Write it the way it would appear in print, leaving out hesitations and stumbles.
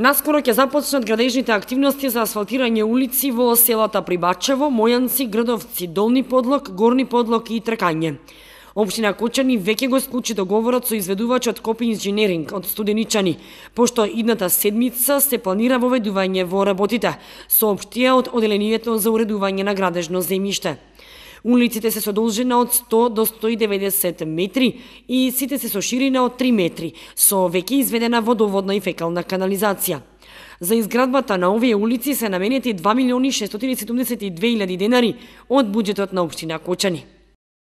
Наскоро ќе започнат градежните активности за асфалтирање улици во селата Прибачево, Мојанци, Грдовци, Долни Подлог, Горни Подлог и Тркање. Општина Кочани веќе го склучи договорот со изведувачот Копи инженеринг од Студеничани, пошто идната седмица се планира воведување во работите, соопштија од Оделението за уредување на градежно земјиште. Улиците се со должина од 100 до 190 метри и сите се со ширина од 3 метри, со веќе изведена водоводна и фекална канализација. За изградбата на овие улици се наменети 2.672.000 денари од буџетот на општина Кочани.